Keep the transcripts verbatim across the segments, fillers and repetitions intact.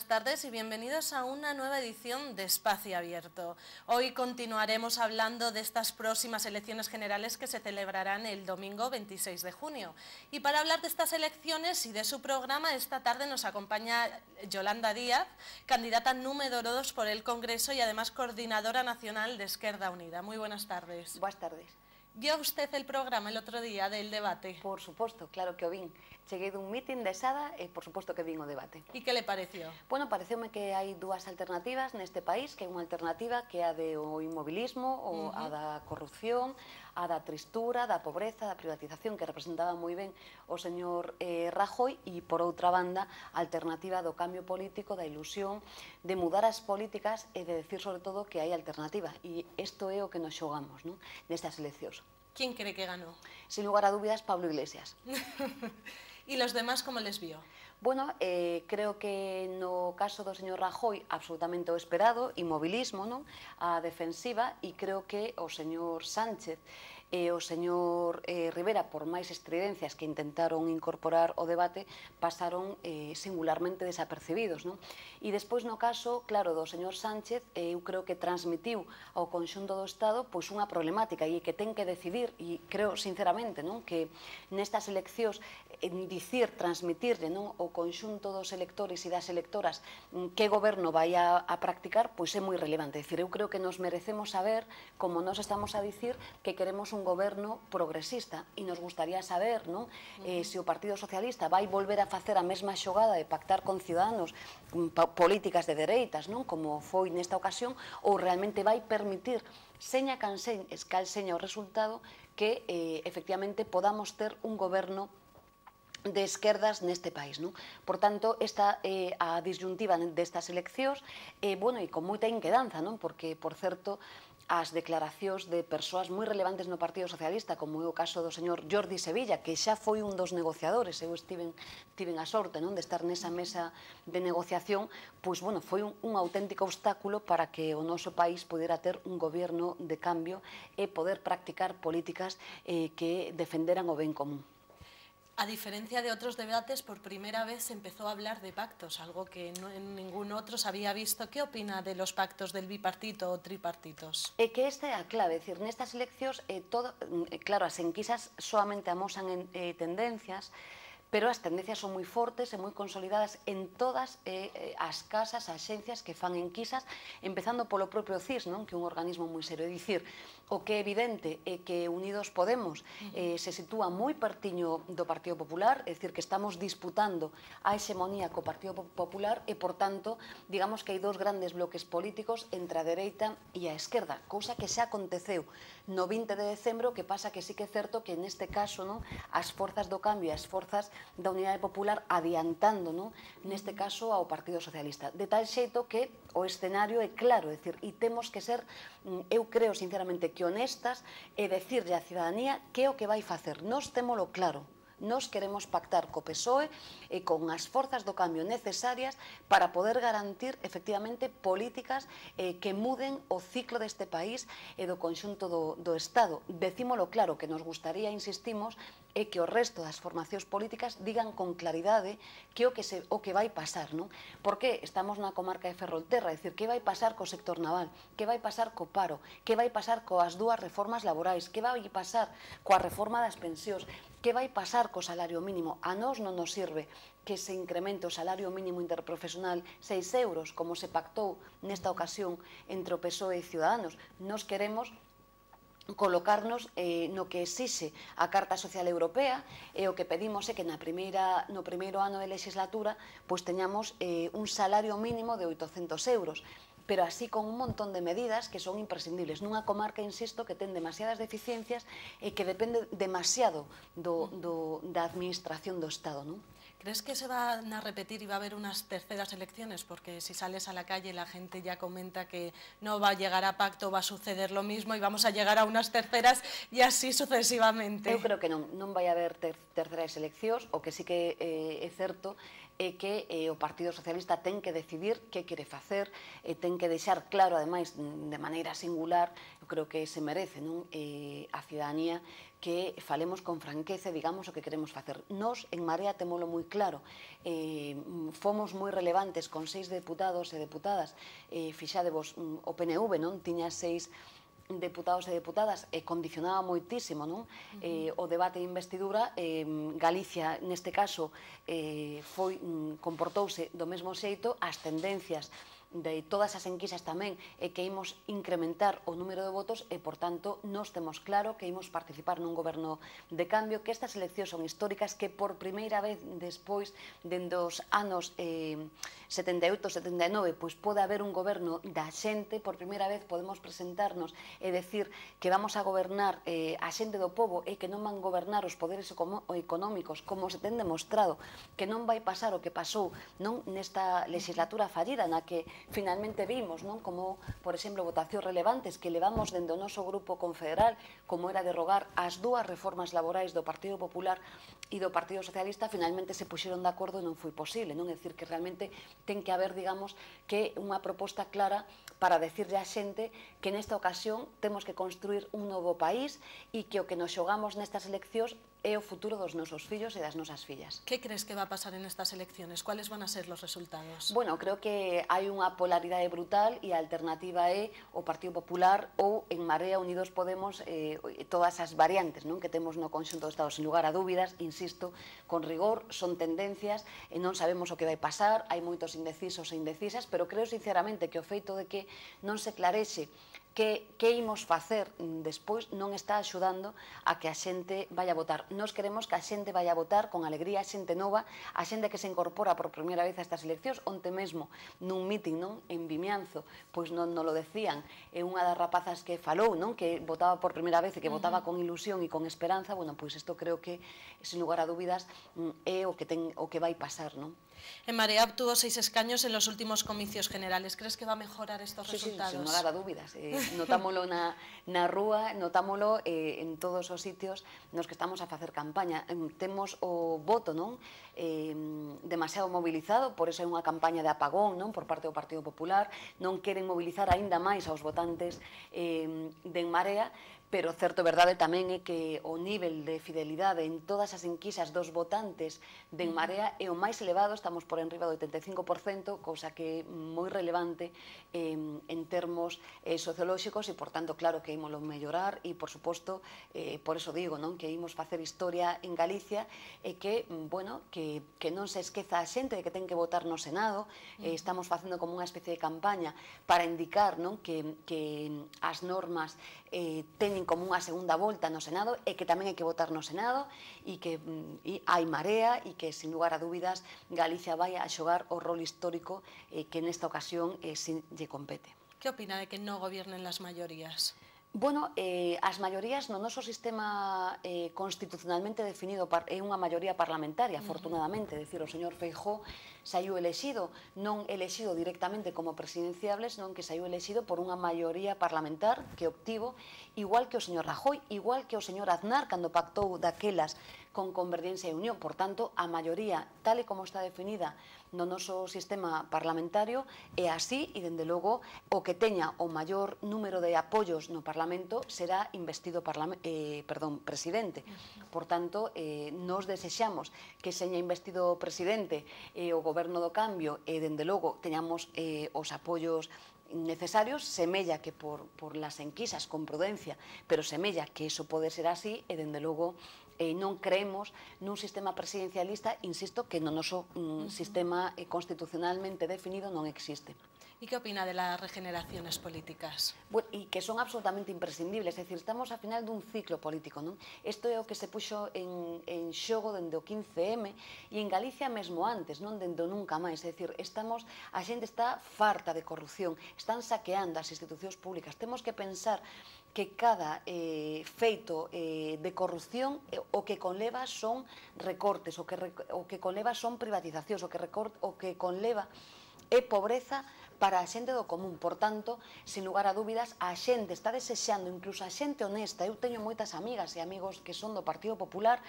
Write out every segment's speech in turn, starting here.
buenas tardes y bienvenidos a una nueva edición de Espacio Abierto. Hoy continuaremos hablando de estas próximas elecciones generales que se celebrarán el domingo veintiséis de junio. Y para hablar de estas elecciones y de su programa, esta tarde nos acompaña Yolanda Díaz, candidata número dos por el Congreso y además coordinadora nacional de Esquerda Unida. Muy buenas tardes. Buenas tardes. ¿Vio usted el programa el otro día del debate? Por suposto, claro que o vin. Cheguei dun mitin de Sada e por suposto que vin o debate. E que le pareció? Bueno, pareceume que hai dúas alternativas neste país, que é unha alternativa que é a do inmobilismo, ou a da corrupción, a da tristura, da pobreza, da privatización, que representaba moi ben o señor eh, Rajoy, e por outra banda, a alternativa do cambio político, da ilusión, de mudar as políticas e de decir sobre todo que hai alternativa. E isto é o que nos xogamos, non? Nestas eleccións. ¿Quién cree que ganó? Sin lugar a dúbidas, Pablo Iglesias. ¿Y los demás cómo les vio? Bueno, eh, creo que no caso do señor Rajoy absolutamente o esperado, inmobilismo, non? A defensiva, e creo que o señor Sánchez e o señor eh, Rivera, por máis estridencias que intentaron incorporar o debate, pasaron eh, singularmente desapercibidos, non? E despois no caso, claro, do señor Sánchez, eh, eu creo que transmitiu ao conxunto do Estado pois unha problemática e que ten que decidir, e creo sinceramente, non, que nestas eleccións en dicir, transmitirle, non, o conxunto dos electores e das electoras que goberno vai a, a practicar, pois é moi relevante. É dicir, eu creo que nos merecemos saber, como nos estamos a dicir, que queremos un goberno progresista, e nos gustaría saber, non, eh, se o Partido Socialista vai volver a facer a mesma xogada de pactar con Ciudadanos políticas de dereitas, non, como foi nesta ocasión, ou realmente vai permitir, seña can seña, cal seña o resultado, que eh, efectivamente podamos ter un goberno de esquerdas neste país, non? Por tanto, esta é eh, a disyuntiva destas eleccións, eh, bueno, e con moita inquedanza, non? Porque, por certo, as declaracións de persoas moi relevantes no Partido Socialista, como é o caso do señor Jordi Sevilla, que xa foi un dos negociadores, eu estiven, tiven a sorte, non, de estar nesa mesa de negociación, pois, bueno, foi un, un auténtico obstáculo para que o noso país pudera ter un goberno de cambio e poder practicar políticas eh, que defenderan o ben común. A diferencia de otros debates, por primera vez se empezó a hablar de pactos, algo que no, en ningún otro se había visto. ¿Qué opina de los pactos del bipartito o tripartitos? É que esta é a clave, é dicir, nestas eleccións, eh, todo, eh, claro, as enquisas solamente amosan en, eh, tendencias, pero as tendencias son moi fortes e moi consolidadas en todas eh, as casas, as axencias que fan enquisas, empezando polo propio C I S, non? Que é un organismo moi serio. É dicir, o que é evidente é que Unidos Podemos eh, se sitúa moi pertiño do Partido Popular, é dicir, que estamos disputando a hexemonía co Partido Popular e, por tanto, digamos que hai dous grandes bloques políticos entre a dereita e a esquerda, cousa que xa aconteceu no vinte de decembro, que pasa que sí que é certo que neste caso, non, as forzas do cambio e as forzas da Unidade Popular adiantando, non, neste caso ao Partido Socialista, de tal xeito que o escenario é claro, é dicir, e temos que ser, eu creo sinceramente que honestas e decirlle á cidadanía que é o que vai facer. Nós témolo claro. Nos queremos pactar co P S O E e con as forzas do cambio necesarias para poder garantir efectivamente políticas eh, que muden o ciclo deste país e do conxunto do, do Estado. Decímolo claro, que nos gustaría, insistimos, é que o resto das formacións políticas digan con claridade que o que, se, o que vai pasar, non? Porque estamos na comarca de Ferrolterra, é dicir, que vai pasar co sector naval, que vai pasar co paro, que vai pasar coas dúas reformas laborais, que vai pasar coa reforma das pensións, que vai pasar co salario mínimo. A nós non nos sirve que se incremente o salario mínimo interprofesional seis euros, como se pactou nesta ocasión entre o P S O E e Ciudadanos. Nos queremos colocarnos eh, no que exixe a Carta Social Europea, e o que pedimos é que na primeira, no primeiro ano de legislatura pois teñamos eh, un salario mínimo de oitocentos euros, pero así con un montón de medidas que son imprescindibles nunha comarca, insisto, que ten demasiadas deficiencias e que depende demasiado do, do, da administración do Estado, non? ¿Crees que se van a repetir y va a haber unas terceras elecciones? Porque si sales a la calle la gente ya comenta que no va a llegar a pacto, va a suceder lo mismo y vamos a llegar a unas terceras y así sucesivamente. Eu creo que non, non vai haber ter, terceras eleccións. O que sí que eh, é certo é que eh, o Partido Socialista ten que decidir que quere facer, e ten que deixar claro, ademais, de maneira singular, eu creo que se merece, non? Eh, a ciudadanía, que falemos con franqueza e digamos o que queremos facer. Nos, en Marea, temolo moi claro. Eh, fomos moi relevantes con seis deputados e deputadas. Eh, fixadevos, o P N V, non? Tiña seis deputados e deputadas, e condicionaba moitísimo, non? Eh, o debate de investidura. eh, Galicia, neste caso, eh, foi, comportouse do mesmo xeito. As tendencias de todas as enquisas tamén é que imos incrementar o número de votos, e, por tanto, nos temos claro que imos participar nun goberno de cambio, que estas eleccións son históricas, que por primeira vez despois dende os anos eh, setenta e oito, setenta e nove, pois pode haber un goberno da xente. Por primeira vez podemos presentarnos e decir que vamos a gobernar eh, a xente do pobo, e que non van gobernar os poderes económicos, como se ten demostrado que non vai pasar o que pasou, non, nesta legislatura fallida, na que finalmente vimos, non, como, por exemplo, votacións relevantes que levamos dende o noso grupo confederal, como era derrogar as dúas reformas laborais do Partido Popular e do Partido Socialista, finalmente se puxeron de acordo e non foi posible, non? É dicir, que realmente ten que haber, digamos, que unha proposta clara para decirle á xente que nesta ocasión temos que construir un novo país, e que o que nos xogamos nestas eleccións é o futuro dos nosos fillos e das nosas fillas. ¿Qué crees que va a pasar en estas elecciones? ¿Cuáles van a ser los resultados? Bueno, creo que hai unha polaridade brutal, e a alternativa é o Partido Popular ou en Marea, Unidos Podemos, eh, todas as variantes, non, que temos no conxunto do Estado. Sin lugar a dúbidas, insisto, con rigor, son tendencias e non sabemos o que vai pasar, hai moitos indecisos e indecisas, pero creo sinceramente que o feito de que non se clarexe que, que imos facer despois non está axudando a que a xente vai a votar. Nós queremos que a xente vai a votar con alegría, a xente nova, a xente que se incorpora por primeira vez a estas eleccións. Onte mesmo, nun meeting, non, en Vimianzo, pois non nos lo decían, é unha das rapazas que falou, non, que votaba por primeira vez e que votaba con ilusión e con esperanza. Bueno, pois isto creo que, sin lugar a dúbidas, é o que ten o que vai pasar, non? En Marea obtuvo seis escaños en los últimos comicios generales. ¿Crees que va a mejorar estos sí, resultados? Sí, sin lugar a dúbidas. Eh, notámolo na, na rúa, notámolo eh, en todos os sitios nos que estamos a facer campaña. Eh, temos o voto, non? Eh, demasiado mobilizado, por iso é unha campaña de apagón, non, por parte do Partido Popular. Non queren mobilizar aínda máis aos votantes eh, de En Marea, pero certo verdade tamén é que o nivel de fidelidade en todas as enquisas dos votantes de En Marea é o máis elevado. Estamos por enriba do oitenta e cinco por cento, cousa que é moi relevante eh, en termos eh, sociolóxicos, e, por tanto, claro que ímolo mellorar, e, por suposto, eh, por eso digo, non, que imos facer historia en Galicia, e que, bueno, que, que non se esqueza a xente de que ten que votar no Senado. Eh, estamos facendo como unha especie de campaña para indicar, non, que, que as normas eh, teñen como unha segunda volta no Senado, e que tamén hai que votar no Senado, e que e hai marea, e que, sin lugar a dúbidas, Galicia vai a xogar o rol histórico eh, que nesta ocasión eh, si lle compete. ¿Qué opina de que no gobiernen las mayorías? Bueno, eh, as maiorías no noso sistema eh, constitucionalmente definido é unha maioría parlamentaria, afortunadamente. É dicir, o señor Feijóo saiu elexido, non elexido directamente como presidenciable, senón que saiu elexido por unha maioría parlamentar que obtivo, igual que o señor Rajoy, igual que o señor Aznar, cando pactou daquelas con Convergencia e Unión. Por tanto, a maioría, tal e como está definida no noso sistema parlamentario, é así, e, dende logo, o que teña o maior número de apoios no Parlamento será investido eh, perdón, presidente. Por tanto, eh, nos desexamos que seña investido presidente eh, o Goberno do Cambio, e, dende logo, teñamos eh, os apoios necesarios. Semella que por, por las enquisas, con prudencia, pero semella que eso pode ser así, e, dende logo, eh, non creemos nun sistema presidencialista, insisto, que no noso mm, sistema eh, constitucionalmente definido non existe. ¿Y qué opina de las regeneraciones políticas? Bueno, e que son absolutamente imprescindibles, é dicir, estamos a final dun ciclo político, non? Isto é o que se puxo en, en xogo dende o quince eme, e en Galicia mesmo antes, non, dende o nunca máis. É dicir, estamos, a xente está farta de corrupción, están saqueando as institucións públicas. Temos que pensar que cada eh, feito eh, de corrupción eh, o que conleva son recortes, o que, o que conleva son privatizacións, o que, recort, o que conleva é pobreza para a xente do común. Por tanto, sin lugar a dúbidas, a xente está desexando, incluso a xente honesta. Eu teño moitas amigas e amigos que son do Partido Popular,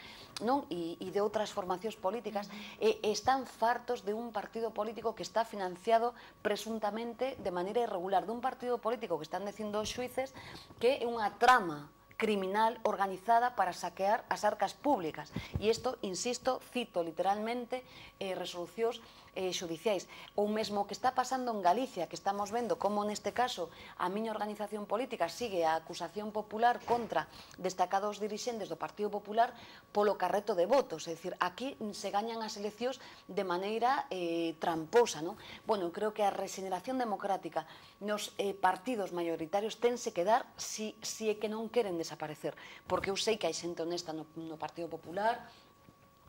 non, e, e de outras formacións políticas, e, e están fartos de un partido político que está financiado presuntamente de maneira irregular, dun partido político que están dicindo os xuíces que é unha trama criminal organizada para saquear as arcas públicas. E isto, insisto, cito literalmente eh, resolucións eh, xudiciais. Ou mesmo que está pasando en Galicia, que estamos vendo como neste caso a miña organización política sigue a acusación popular contra destacados dirixentes do Partido Popular polo carreto de votos. É dicir, aquí se gañan as eleccións de maneira eh, tramposa, non? Bueno, creo que a regeneración democrática nos eh, partidos maioritarios tense que dar si, si é que non queren desaparecer, porque eu sei que hai xente honesta no, no Partido Popular,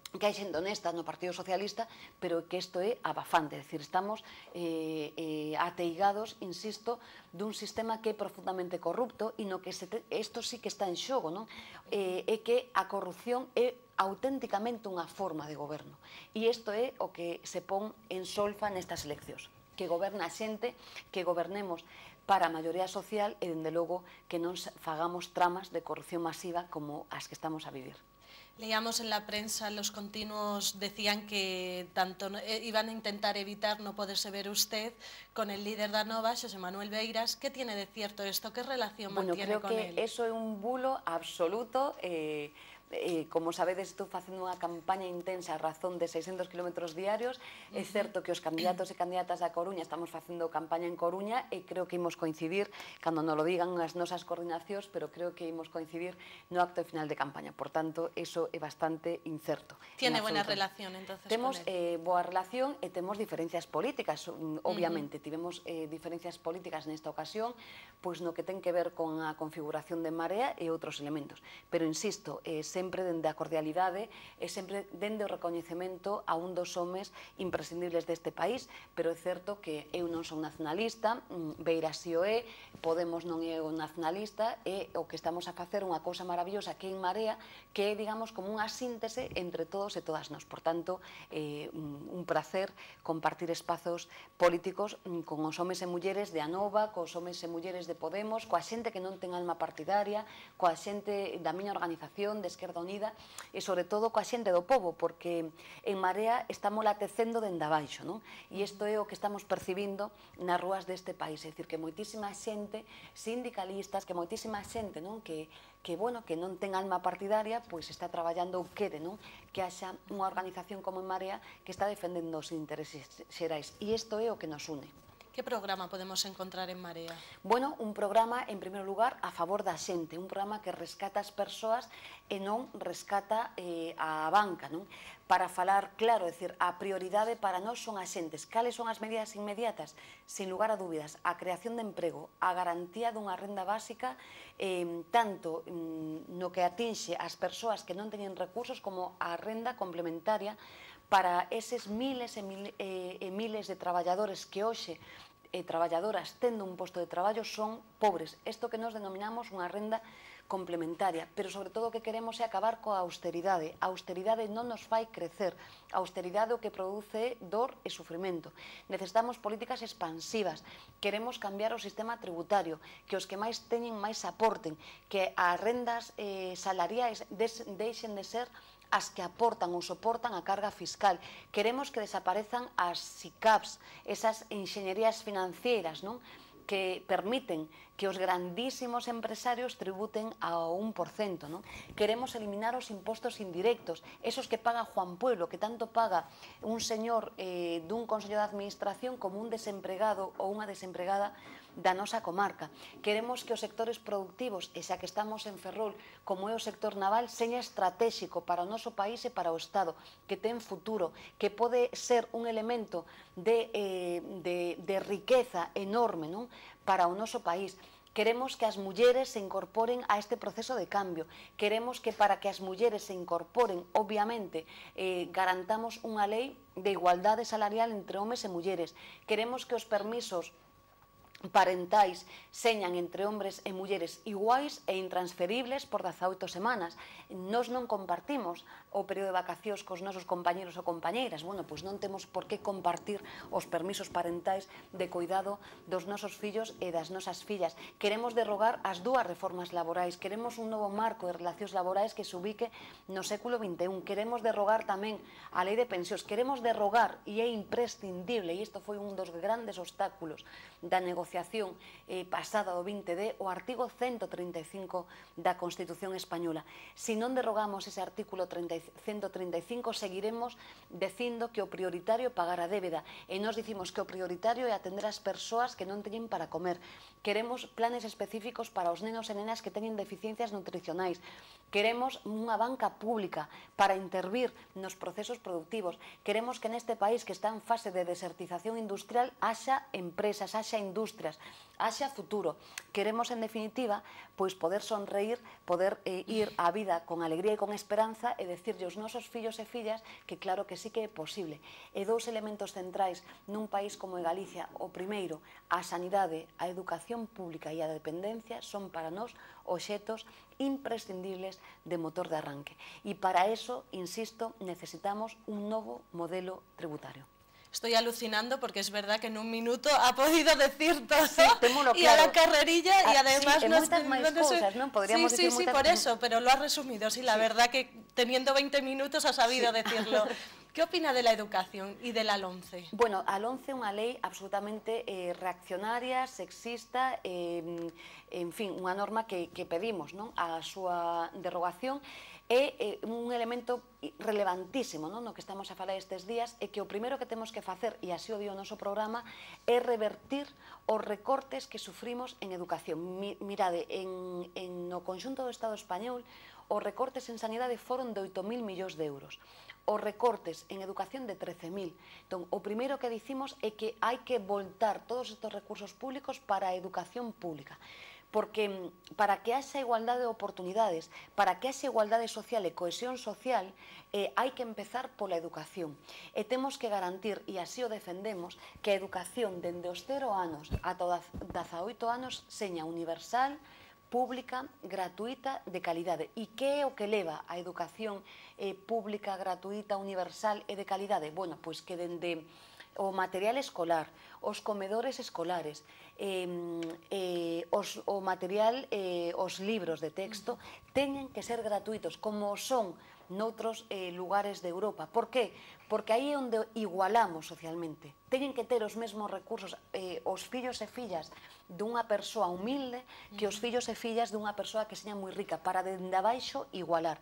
que hai xente honesta no Partido Socialista, pero que isto é abafante, é dicir, estamos eh, eh, ateigados, insisto, dun sistema que é profundamente corrupto e no que se te, isto sí que está en xogo, non? Eh, é que a corrupción é auténticamente unha forma de goberno, e isto é o que se pon en solfa nestas eleccións, que goberna a xente, que gobernemos para a maioría social e, dende logo, que non fagamos tramas de corrupción masiva como as que estamos a vivir. Leíamos en la prensa, los continuos decían que tanto iban a intentar evitar no poderse ver usted con el líder da Nova, Xosé Manuel Beiras. ¿Qué tiene de cierto esto? ¿Qué relación bueno, mantiene con él? Bueno, creo que eso é un bulo absoluto. Eh, eh, como sabedes, estou facendo unha campaña intensa a razón de seiscentos kilómetros diarios. É certo que os candidatos e candidatas da Coruña estamos facendo campaña en Coruña e creo que imos coincidir, cando non lo digan as nosas coordinacións, pero creo que imos coincidir no acto final de campaña. Por tanto, eso é bastante incerto. Tiene buena relación, entonces, temos con él. eh, boa relación e temos diferencias políticas, obviamente. Uh -huh. Tivemos eh, diferencias políticas nesta ocasión, pois no que ten que ver con a configuración de Marea e outros elementos. Pero, insisto, eh, sempre dende a cordialidade e sempre dende o recoñecemento a un dos homes imprescindibles deste país, pero é certo que eu non son nacionalista, Beiras si o é, Podemos non é o nacionalista, e o que estamos a facer unha cousa maravillosa que é en Marea, que é, digamos, como unha síntese entre todos e todas nós. Por tanto, eh, un placer compartir espazos políticos con os homes e mulleres de Anova, cos homes e mulleres de Podemos, coa xente que non ten alma partidaria, coa xente da miña organización de Esquerda Unida e, sobre todo, coa xente do povo, porque en Marea estamos latecendo dende abaixo, non? E isto é o que estamos percibindo nas rúas deste país, é dicir, que moitísima xente, sindicalistas, que moitísima xente, non? Que, que, bueno, que non ten alma partidaria, pois está traballando ou quere, non? Que haxa unha organización como en Marea que está defendendo os intereses xerais. E isto é o que nos une. Que programa podemos encontrar en Marea? Bueno, un programa, en primeiro lugar, a favor da xente, un programa que rescata as persoas e non rescata eh, a banca, non? Para falar claro, é dicir, a prioridade para nós son as xentes. Cales son as medidas inmediatas? Sin lugar a dúbidas, a creación de emprego, a garantía dunha renda básica, eh, tanto mm, no que atinxe as persoas que non teñen recursos como a renda complementaria para eses miles e, mil, eh, e miles de traballadores que hoxe e traballadoras tendo un posto de traballo son pobres. Isto que nos denominamos unha renda complementaria, pero sobre todo o que queremos é acabar coa austeridade. A austeridade non nos fai crecer, a austeridade o que produce dor e sufrimento. Necesitamos políticas expansivas, queremos cambiar o sistema tributario, que os que máis teñen máis aporten, que as rendas eh, salariais deixen de ser as que aportan ou soportan a carga fiscal. Queremos que desaparezan as SICAPs, esas enxeñerías financieras, non? Que permiten que os grandísimos empresarios tributen ao un por cento, non? Queremos eliminar os impostos indirectos, esos que paga Juan Pueblo, que tanto paga un señor eh, dun consello de administración como un desempregado ou unha desempregada da nosa comarca. Queremos que os sectores productivos, e xa que estamos en Ferrol, como é o sector naval, seña estratégico para o noso país e para o Estado, que ten futuro, que pode ser un elemento de, eh, de, de riqueza enorme, non? Para o noso país. Queremos que as mulleres se incorporen a este proceso de cambio. Queremos que para que as mulleres se incorporen, obviamente, eh, garantamos unha lei de igualdade salarial entre homes e mulleres. Queremos que os permisos parentais señan entre hombres e mulleres iguais e intransferibles por dezaoito semanas. Nos non compartimos o período de vacacións cos nosos compañeros ou compañeiras. Bueno, pois non temos por que compartir os permisos parentais de cuidado dos nosos fillos e das nosas fillas. Queremos derrogar as dúas reformas laborais, queremos un novo marco de relacións laborais que se ubique no século vinte e un, queremos derrogar tamén a lei de pensións, queremos derrogar, e é imprescindible, e isto foi un dos grandes obstáculos da negociación eh, pasada do vinte D, o artigo ciento trinta e cinco da Constitución Española. Se non derrogamos ese artículo ciento trinta e cinco, seguiremos dicindo que o prioritario é pagar a débeda, e nós dicimos que o prioritario é atender as persoas que non teñen para comer. Queremos planes específicos para os nenos e nenas que teñen deficiencias nutricionais. Queremos unha banca pública para intervir nos procesos productivos. Queremos que neste país que está en fase de desertización industrial haxa empresas, haxa industrias, haxa futuro. Queremos, en definitiva, pois poder sonreír, poder eh, ir á vida con alegría e con esperanza e decirlle aos nosos fillos e fillas que claro que sí que é posible. E dous elementos centrais nun país como Galicia, o primeiro, a sanidade, a educación pública e a dependencia son para nós obxetos imprescindibles de motor de arranque. E para eso, insisto, necesitamos un novo modelo tributario. Estoy alucinando porque es verdad que en un minuto ha podido decir todo, sí, claro. Y a la carrerilla y además... Sí, moitas máis cousas, non? Podríamos sí, sí, decir sí, por eso, pero lo ha resumido. Sí, la sí. verdad que teniendo veinte minutos ha sabido sí. decirlo. ¿Qué opina de la educación y de la LOMCE? Bueno, a LOMCE é unha lei absolutamente eh, reaccionaria, sexista, eh, en fin, unha norma que, que pedimos, non? A súa derogación é eh, un elemento relevantísimo, non? No que estamos a falar estes días, é que o primeiro que temos que facer, e así o dio o noso programa, é revertir os recortes que sufrimos en educación. Mi, mirade, en, en no conxunto do Estado español, os recortes en sanidade foron de oito mil millóns de euros. Os recortes en educación de trece mil. Entón, o primeiro que dicimos é que hai que voltar todos estes recursos públicos para a educación pública. Porque para que haxa igualdade de oportunidades, para que haxa igualdade social e cohesión social, eh, hai que empezar pola educación. E temos que garantir, e así o defendemos, que a educación dende os cero anos ata os dezaoito anos seña universal, pública, gratuita, de calidade. E que é o que leva a educación eh, pública, gratuita, universal e de calidade? Bueno, pois que dende o material escolar, os comedores escolares, eh, eh, os, o material, eh, os libros de texto, teñen que ser gratuitos, como son noutros eh, lugares de Europa. Por que? Porque aí é onde igualamos socialmente. Teñen que ter os mesmos recursos eh, os fillos e fillas dunha persoa humilde que os fillos e fillas dunha persoa que seña moi rica, para dende abaixo igualar,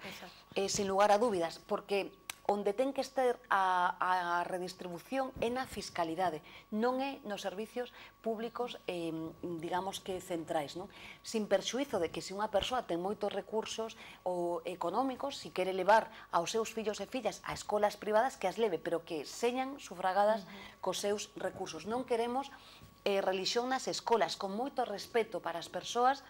eh, sin lugar a dúbidas, porque onde ten que estar a, a redistribución é na fiscalidade, non é nos servicios públicos, eh, digamos que centrais, non? Sin perxuízo de que se unha persoa ten moitos recursos ou económicos, se quere levar aos seus fillos e fillas a escolas privadas, que as leve, pero que señan sufragadas uh-huh. cos seus recursos. Non queremos eh, religión nas escolas, con moito respeto para as persoas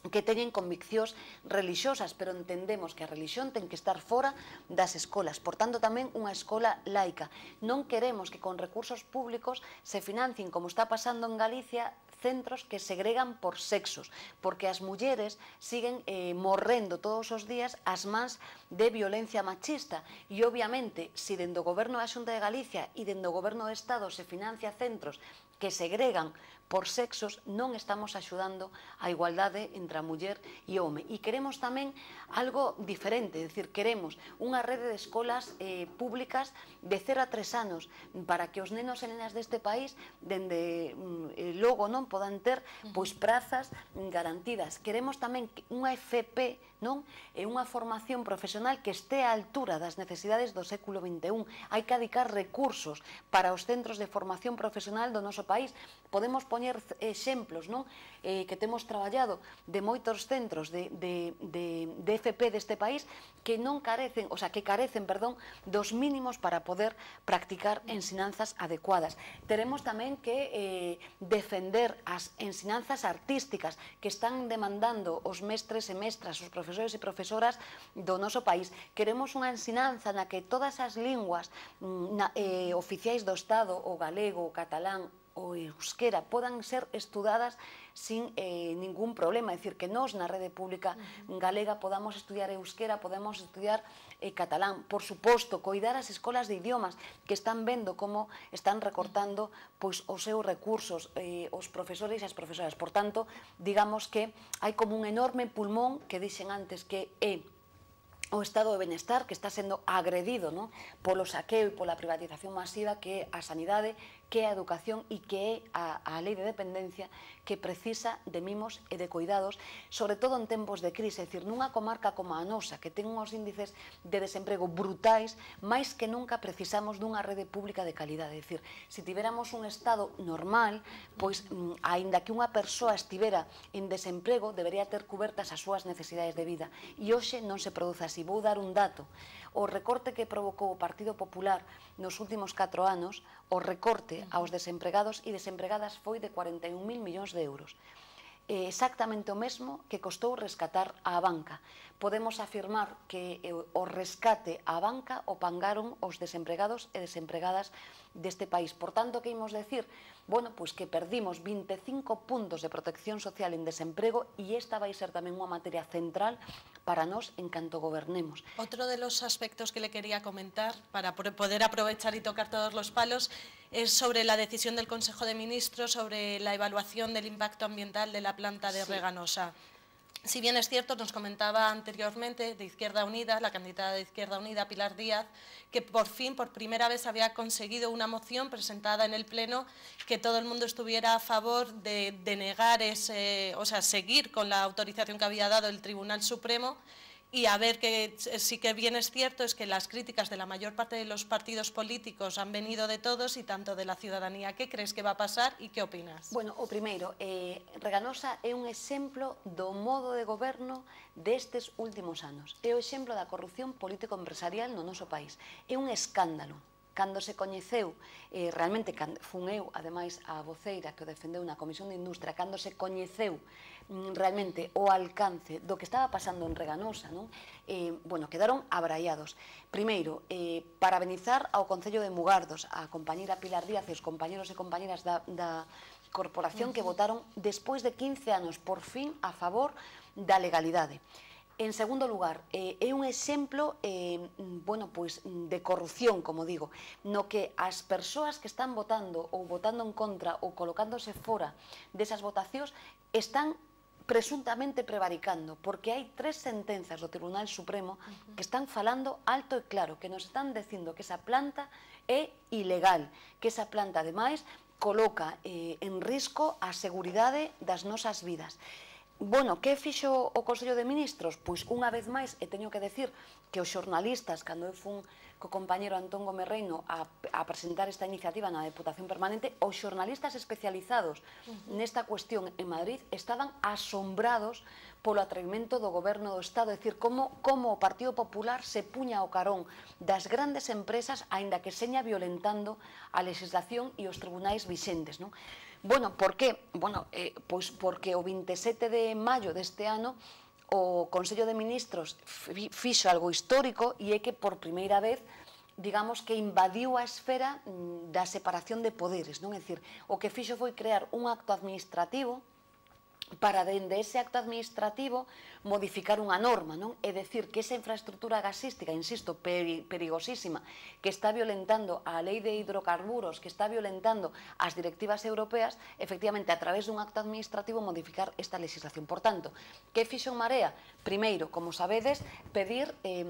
que teñen conviccións religiosas, pero entendemos que a religión ten que estar fora das escolas, por tanto tamén unha escola laica. Non queremos que con recursos públicos se financien, como está pasando en Galicia, centros que segregan por sexos, porque as mulleres siguen eh, morrendo todos os días as mans de violencia machista, e obviamente, se dende o goberno da Xunta de Galicia e dende o goberno do Estado se financia centros que segregan por sexos, non estamos axudando a igualdade entre a muller e o home. E queremos tamén algo diferente, é dicir, queremos unha rede de escolas eh, públicas de cero a tres anos para que os nenos e nenas deste país dende eh, logo non podan ter pois prazas garantidas. Queremos tamén unha F P, non? E unha formación profesional que este á altura das necesidades do século vinte e un. Hai que adicar recursos para os centros de formación profesional do noso país. Podemos poñer exemplos, non? Eh, que temos traballado de moitos centros de, de, de, de F P deste país que non carecen, o sea, que carecen, perdón, dos mínimos para poder practicar ensinanzas adecuadas. Teremos tamén que eh, defender as ensinanzas artísticas que están demandando os mestres e mestras, os profesores e profesoras do noso país. Queremos unha ensinanza na que todas as linguas na, eh, oficiais do Estado, o galego, o catalán, o euskera podan ser estudadas sin eh, ningún problema, é dicir, que nós na rede pública galega podamos estudiar euskera, podemos estudiar eh, catalán, por suposto, coidar as escolas de idiomas que están vendo como están recortando pois, os seus recursos, eh, os profesores e as profesoras. Por tanto, digamos que hai como un enorme pulmón que dixen antes que é o estado de benestar que está sendo agredido, non? Polo saqueo e pola privatización masiva que é a sanidade, que é a educación e que é a, a lei de dependencia que precisa de mimos e de cuidados, sobre todo en tempos de crise, é dicir, nunha comarca como a nosa, que ten uns índices de desemprego brutais, máis que nunca precisamos dunha rede pública de calidade, é dicir, se tiveramos un estado normal, pois, aínda que unha persoa estivera en desemprego, debería ter cubertas as súas necesidades de vida, e hoxe non se produce así. Vou dar un dato. O recorte que provocou o Partido Popular nos últimos catro anos, o recorte aos desempregados e desempregadas foi de cuarenta e un mil millóns de euros. É exactamente o mesmo que costou rescatar a banca. Podemos afirmar que o rescate á banca o pangaron os desempregados e desempregadas deste país. Por tanto, que imos decir? Bueno, pois que perdimos vinte e cinco puntos de protección social en desemprego e esta vai ser tamén unha materia central para nós en canto gobernemos. Otro de los aspectos que le quería comentar, para poder aprovechar y tocar todos los palos, es sobre la decisión del Consejo de Ministros sobre la evaluación del impacto ambiental de la planta de sí. Reganosa. Si bien es cierto, nos comentaba anteriormente de Izquierda Unida, la candidata de Izquierda Unida, Pilar Díaz, que por fin, por primera vez, había conseguido una moción presentada en el Pleno que todo el mundo estuviera a favor de denegar ese, o sea, seguir con la autorización que había dado el Tribunal Supremo. Y a ver, que sí que bien es cierto es que las críticas de la mayor parte de los partidos políticos han venido de todos y tanto de la ciudadanía. ¿Qué crees que va a pasar y qué opinas? Bueno, o primeiro, eh, Reganosa é un exemplo do modo de goberno destes últimos anos. É o exemplo da corrupción político-empresarial no noso país. É un escándalo. Cando se coñeceu, eh, realmente fun eu, ademais, a voceira que o defendeu na Comisión de Industria, cando se coñeceu realmente o alcance do que estaba pasando en Reganosa, non? Eh, bueno, quedaron abraiados. Primeiro, eh, parabenizar ao Concello de Mugardos, a compañera Pilar Díaz e os compañeros e compañeras da, da corporación que votaron despois de quince anos, por fin, a favor da legalidade. En segundo lugar, eh, é un exemplo eh, bueno, pois, de corrupción, como digo, no que as persoas que están votando ou votando en contra ou colocándose fora desas votacións están presuntamente prevaricando, porque hai tres sentenzas do Tribunal Supremo que están falando alto e claro, que nos están dicindo que esa planta é ilegal, que esa planta, ademais, coloca eh, en risco a seguridade das nosas vidas. Bueno, que fixo o Consello de Ministros? Pois unha vez máis, e teño que decir que os xornalistas, cando eu fun co compañero Antón Gómez Reino a, a presentar esta iniciativa na Deputación Permanente, os xornalistas especializados nesta cuestión en Madrid estaban asombrados polo atrevimento do Goberno do Estado, é dicir, como, como o Partido Popular se puña ao carón das grandes empresas, aínda que seña violentando a legislación e os tribunais vixentes, non? Bueno, por que? Bueno, eh, pois porque o vinte e sete de maio deste ano o Consello de Ministros fixo algo histórico e é que por primeira vez, digamos que invadiu a esfera da separación de poderes, non? É dicir, o que fixo foi crear un acto administrativo para dende ese acto administrativo modificar unha norma, non? É dicir, que esa infraestructura gasística, insisto, perigosísima, que está violentando a lei de hidrocarburos, que está violentando as directivas europeas, efectivamente, a través dun acto administrativo modificar esta legislación. Por tanto, que fixo Marea? Primeiro, como sabedes, pedir eh,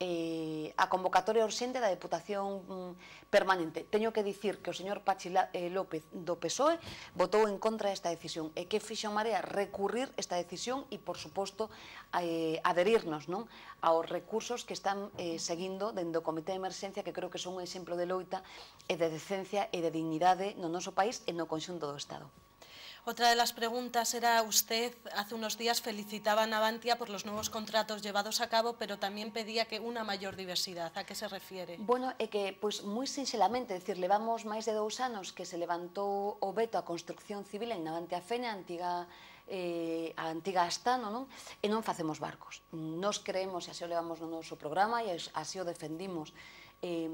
eh, a convocatoria urxente da Deputación mm, Permanente. Teño que dicir que o señor Pachi eh, López do P S O E votou en contra desta decisión. E que fixo Marea? Recurrir esta decisión e, por suposto, eh, adherirnos, non, aos recursos que están eh, seguindo dentro do Comité de Emerxencia, que creo que son un exemplo de loita e de decencia e de dignidade no noso país e no conxunto do Estado. Otra de las preguntas era, usted hace unos días felicitaba a Navantia por los nuevos contratos llevados a cabo, pero también pedía que una mayor diversidad. ¿A qué se refiere? Bueno, é que, pois, moi sinxelamente, é dicir, levamos máis de dous anos que se levantou o veto á construcción civil en Navantia Fene, a antiga eh, a antiga Astano, non? E non facemos barcos. Nos creemos, e así o levamos no noso programa, e así o defendimos eh,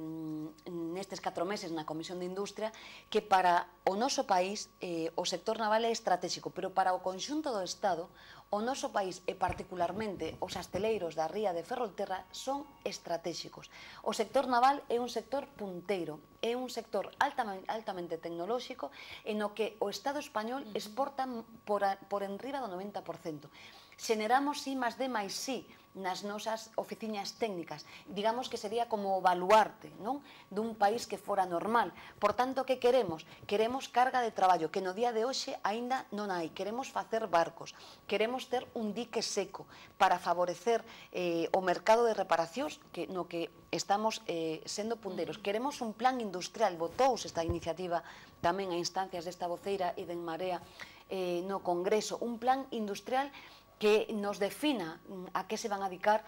nestes catro meses na Comisión de Industria, que para o noso país eh, o sector naval é estratégico, pero para o conxunto do Estado, o noso país e particularmente os asteleiros da ría de Ferrolterra son estratégicos. O sector naval é un sector punteiro, é un sector altamente, altamente tecnolóxico en o que o Estado español exporta por, a, por enriba do noventa por cento. Xeneramos I más D máis I nas nosas oficinas técnicas. Digamos que sería como o baluarte, non? Dun país que fora normal. Por tanto, que queremos? Queremos carga de traballo, que no día de hoxe aínda non hai. Queremos facer barcos, queremos ter un dique seco para favorecer eh, o mercado de reparacións que, no que estamos eh, sendo punteiros. Queremos un plan industrial, votouse esta iniciativa tamén a instancias desta voceira e de En Marea eh, no Congreso, un plan industrial que nos defina a que se van a dedicar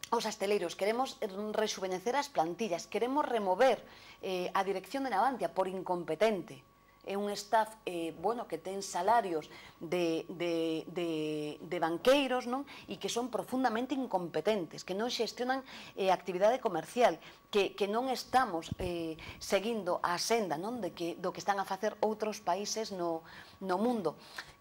os asteleiros. Queremos rexuvenecer as plantillas, queremos remover eh, a dirección de Navantia por incompetente. É un staff eh, bueno, que ten salarios de, de, de, de banqueiros, non? E que son profundamente incompetentes, que non xestionan eh, actividade comercial, que, que non estamos eh, seguindo a senda, non? De que, do que están a facer outros países no, no mundo.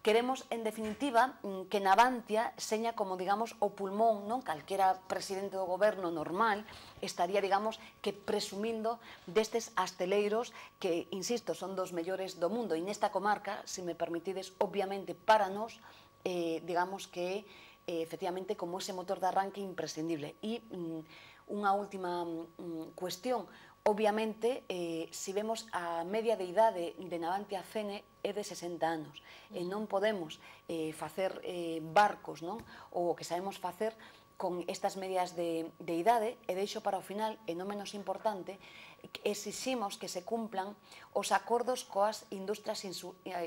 Queremos, en definitiva, que Navantia seña como, digamos, o pulmón, non? Calquera presidente do goberno normal estaría, digamos, que presumindo destes asteleiros que, insisto, son dos mellores do mundo. E nesta comarca, se me permitides, obviamente, para nós, eh, digamos que, eh, efectivamente, como ese motor de arranque imprescindible. E mm, unha última mm, cuestión. Obviamente, eh, se vemos a media de idade de Navantia Fene é de sesenta anos e non podemos eh, facer eh, barcos, non? Ou o que sabemos facer con estas medias de, de idade, e deixo para o final, e non menos importante, exiximos que se cumplan os acordos coas industrias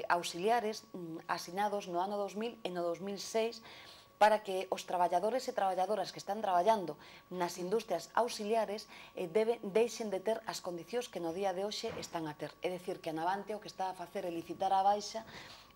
auxiliares asinados no ano dos mil e no dos mil seis, para que os traballadores e traballadoras que están traballando nas industrias auxiliares eh, debe, deixen de ter as condicións que no día de hoxe están a ter. É dicir, que a Navantia o que está a facer é licitar a baixa,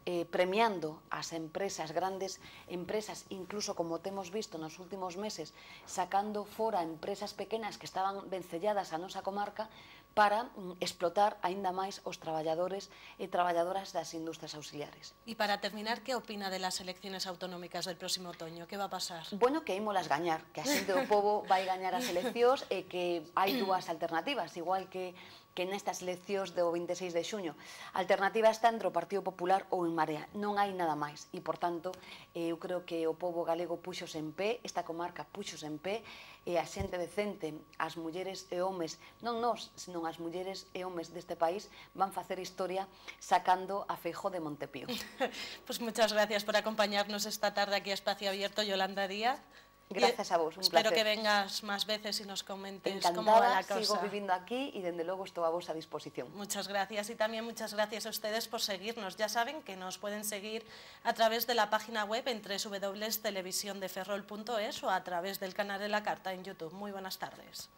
eh, premiando as empresas, grandes empresas, incluso como temos visto nos últimos meses, sacando fora empresas pequenas que estaban vencelladas a nosa comarca, para mm, explotar aínda máis os traballadores e traballadoras das industrias auxiliares. E para terminar, que opina de las elecciones autonómicas del próximo otoño? Que va a pasar? Bueno, que ímolas gañar, que a xente do pobo vai gañar as eleccións e que hai dúas alternativas, igual que que nestas eleccións do vinte e seis de xuño. A alternativa está entre o Partido Popular ou En Marea. Non hai nada máis. E, por tanto, eu creo que o pobo galego puxos en pé, esta comarca puxos en pé, e a xente decente, as mulleres e homes, non nós, senón as mulleres e homes deste país, van facer historia sacando a Feijóo de Montepío. Pues muchas gracias por acompañarnos esta tarde aquí a Espacio Abierto, Yolanda Díaz. Gracias a vos, un Espero placer. que vengas más veces y nos comentes Encantada, cómo va la cosa. sigo viviendo aquí y desde luego estoy a vuestra disposición. Muchas gracias y también muchas gracias a ustedes por seguirnos. Ya saben que nos pueden seguir a través de la página web en doble u doble u doble u punto televisión de ferrol punto es o a través del canal de La Carta en YouTube. Muy buenas tardes.